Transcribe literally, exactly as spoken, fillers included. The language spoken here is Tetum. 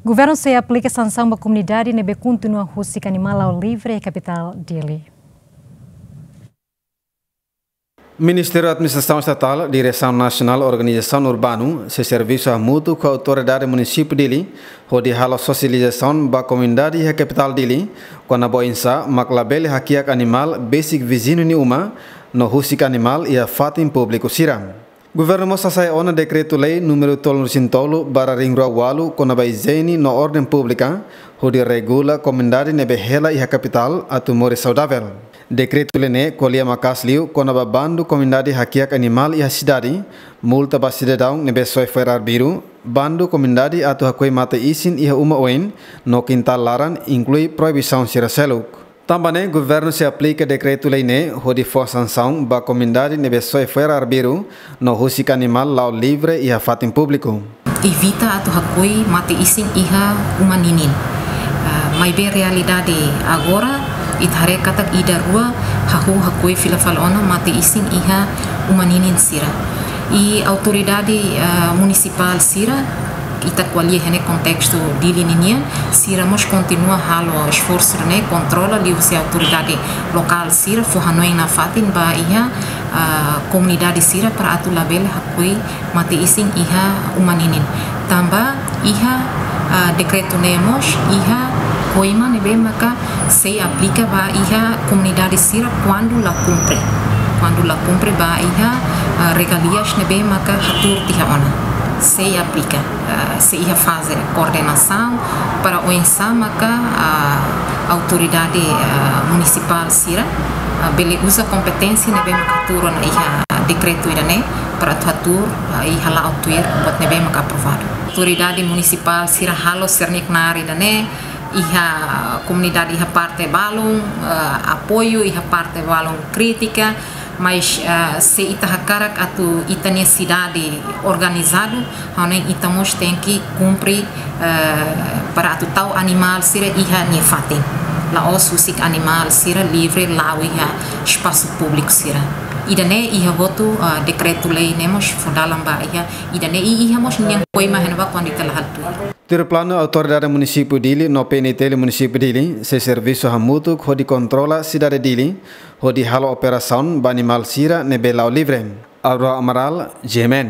Governu sei aplika sansaun ba komunidade ne'ebé kontinua husik animál ao livre iha kapitál Dili. Ministériu Administrasaun Estatál, Diresaun Nasionál Organizasaun Urbanu, sei servisu hamutuk ho Autoridade Munisípiu Dili, hodi halo sosializasaun ba komunidade iha kapitál Dili, kona-ba oinsá mak labele hakiak animál besik viziñu nia uma, no husik animál iha fatin públiku sira. Governu mós hasa'e ona dekretu-lei númeru tolunulu-resin-tolu barra rihun rua ualu kona-ba ijiene no orden públika, hodi regula komunidade ne'ebé hela iha kapitál atu moris saudavel. Dekretu-lei ne'e ko'alia maka'as liu kona-ba bandu komunidade hakiak animál iha sidade, multa ba sidadaun ne'ebé soe fo'er arbiru, bandu komunidade atu hakoi mate-isin iha uma oin, no kintál laran, inklui proibisaun sira seluk. Tanba ne'e, governu sei aplika dekretu-lei ne'e hodi fó sansaun ba komunidade ne'ebé soe fo'er arbiru no husik animál la'o livre iha fatin públiku. Evita atu hakoi mate-isin iha uma ninin. Ah, maibé realidade agora, ita haree katak ida rua hahú hakoi fila fali ona mate-isin iha uma ninin sira. I autoridade, ah, munisipál sira, ita ko'alia iha ne'e kontestu Dili ninian, sira mós kontinua halo esforsu ne'e kontrola liuhusi autoridade lokál sira fó hanoin nafatin ba iha, ah, komunidade sira para atu labele hakoi mate-isin iha uma ninin. Tanba iha, ah, dekretu ne'e mós iha koima ne'ebé maka sei aplika ba iha komunidade sira kuandu la kumpre. Kuandu la kumpre ba iha, ah, regalias ne'ebé maka hatuur tiha ona. Sei aplika, ah, sei iha faze koordenasaun para oinsá maka, ah, autoridade, ah, munisipál sira, ah, bele uza kompeténsia ne'ebé maka hatuur ona iha dekretu ida-ne'e para atu hatuur, ah, i hala'o tuir buat ne'ebé maka aprovadu. Autoridade munisipál sira halo sira-nia knaar ida-ne'e, iha komunidade iha parte balun, eh, apoiu, iha parte balun krítika, mas, eh, se ita hakarak atu ita-nia sidade organizadu, ha'u hanoin ita mós tenke kumpre, eh, para atu tau animál sira iha nia fatin. La'ós husik animál sira livre la'o iha espasu públiku sira. Ida-ne'e iha hotu, eh, dekretu-lei ne'e mós fó dalan ba iha, ida-ne'e i iha mós ninia koima iha ne'ebá kuandu ita la halo tuir. Tuir planu, Autoridade Munisípiu Dili no P N T L Munisípiu Dili sei servisu hamutuk hodi kontrola sidade Dili, hodi halo operasaun ba animál sira ne'ebé la'o livre. Aurora Amaral, G M N.